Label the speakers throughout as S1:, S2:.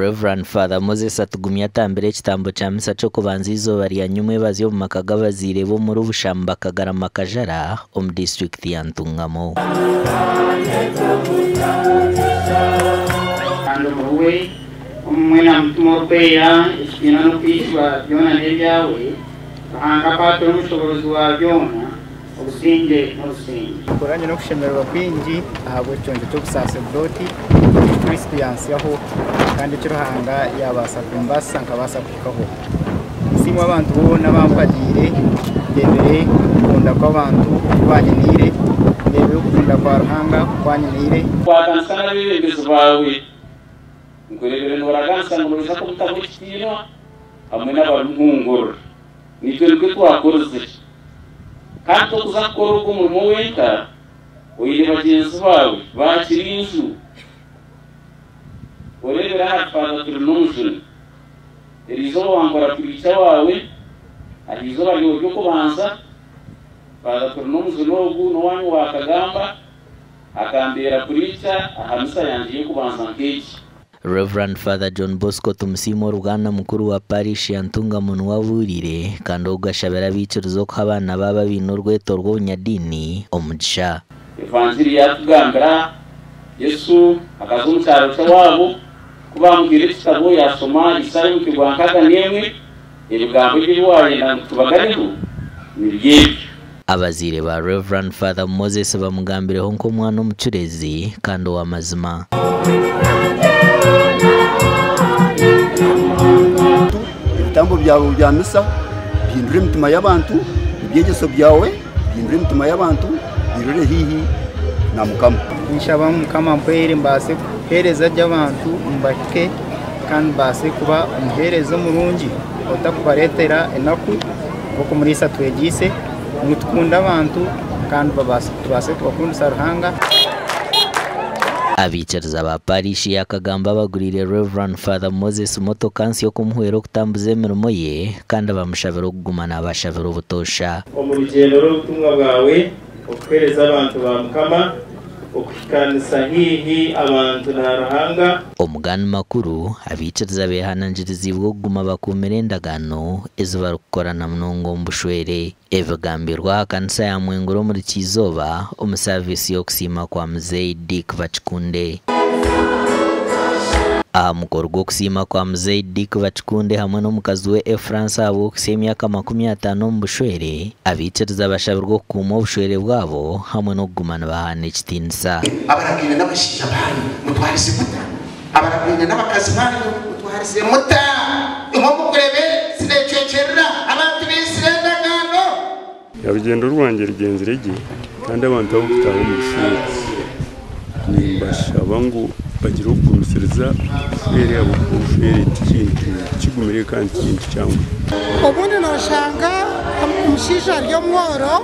S1: Rev. Father Moses Atugumye atambire ekitambo kya misa ky'okubanza eizooba rya nyumwebazyo omu maka g'abazaire be omuri Bushamba Kagarama Kajara omu disiturikiti ya Ntungamo.
S2: Kandi omuriwe, omumwe na Mutima Orikwera, ekitiinwa n'okwijuba byona n'ebyawe, Ruhanga Akwatira Omushoboorozi wa byona, obusingye n'obusingye.
S3: Nkora nyine okushemererwa kwingi ahabw'ekiconco ky'obusaserdooti eki Kristo yansyaho kandi eki Ruhanga yabaasa kumbaasisa nkabaasa kuhikaho. Nsiimwe abantu boona abampagiire, ndebire okukunda kw'abantu oku banyiniire, ndebire okukunda kwa Ruhanga oku anyiniire.
S4: Kwatanisa n'abeebembezi baawe. Nkureebire nooraganisa ngu noija kumutamu ekitiinwa hamwe n'abarimuhungurira. Naitwe nikwo twakorizire. Kandi tokuza kukora ogwo murimo wenka, oine bagyenzi baawe baakirinju. Oreebere ahari Father Turinomujuni. Eriizooba wankora puriica waawe, aha izooba ryawe ry'okubanza, Father Turinomujuni ogu n'owaanyu wa Kagamba, akambeera puriica aha misa yangye y'okubanza nk'egi.
S1: Rev. Father John Bosco Tumusiime Oruganda mukuru wa Parish ya Ntungamo niwe abuuriire kandi ogu ashabire abaikiriza okuha abaana baabo abaine orweto rw'obunyadiini omugisha.
S4: Evanjiri yaatugambira, Yesu akaza omu kyaro ky'owaabo, ku baamuhaire ekitabo yaashoma Isaaya omutwe gwa 61, ebigambo ebi ebi waayenda ngu tubaganeho nibyo ebyo.
S1: Abazaire ba Rev. Father Moses bamugambireho nk'omwana omucureezi kandi ow'amazima.
S5: Ebitambo byawe bya misa bihindure emitima y'abantu, ebyegyeso byawe bihindure emitima y'abantu, birore haihi na Mukama.
S3: Ninshaba ngu Mukama ampwere mbaase kuheereza gye abantu mbahike kandi mbaase kuba omuheereza omurungi otakubareetera enaku nk'oku Muriisa atwegyeise ngu tukunde abantu kandi tubaase kubakundisa Ruhanga.
S1: Abaikiriza ba Parish ya Kagamba baguriire Rev. Father Moses motoka nsya okumuhwera okutambuza emirimo ye kandi bamushabira okuguma nabashabira obutoosha.
S6: Omu rugyendo rw'obutumwa bwawe, okuheereza abantu ba Mukama, okuhikaanisa haihi abantu na Ruhanga.
S1: Omu gandi makuru, abaikiriza beehanangiriziibwe okuguma bakuumire endagaano ezi barikukora na munonga omu bushwere. Ebigambirwe aha kanisa ya Mwengura omuri Kyizooba omu saaviisi y'okusiima kwa Muzei Dick Bakikunde. Aha mukoro gw'okusiima kwa Muzei Dick Bakikunde hamwe n'omukazi we Efransi ahabw'okuhitsya emyaka 50 omu bushwere, abaikiriza bashabirwe okukuuma obushwere bwabo hamwe n'okuguma nibahaana ekitiinisa.
S7: Abaragaine n'abashaija baanyu mutwarize muta? Abaragaine n'abakazi baanyu mutwarize muta? Imwe mukureeba ensi neecwekyerera, abantu baitsire endagaano.
S8: Orugyendo rwangye rugyenzire gye kandi abantu abarikutaaha omu bushwere nimbashaba ngu bagire okugumisiriza obushwere ahabw'okuba obushwere ti kintu kigumire kandi ti kintu kyanguhi.
S9: Obundi nooshanga omushaija ari omworo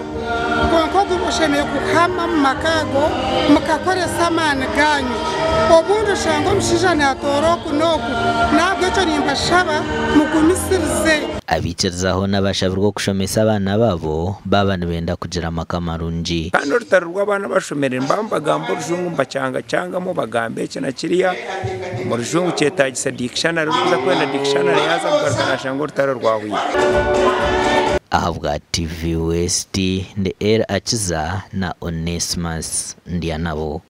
S9: kwonka ogwo oshemereire kuhama omu maka ago mukakoresa amaani gaanyu. Obundi oshanga omushaija naatoora oku n'oku, n'ahabw'ekyo nimbashaba mugumisirize.
S1: Abaikiriza hoona bashabirwe okushomesa abaana baabo baaba nibenda kugira amaka marungi.
S10: Kandi orutaro rw'abaana abashomire nibaba nibagamba orujungu nibakyangakyangamu bagamba eki na kiriya omu rujungu kyetaagisa dictionary orikuza kwenda dictionary yaaza kugaruka naashanga orutaro rwahwire.
S1: Ahabwa TV West, ndi El Akiza na Onesmus Ndyanabo.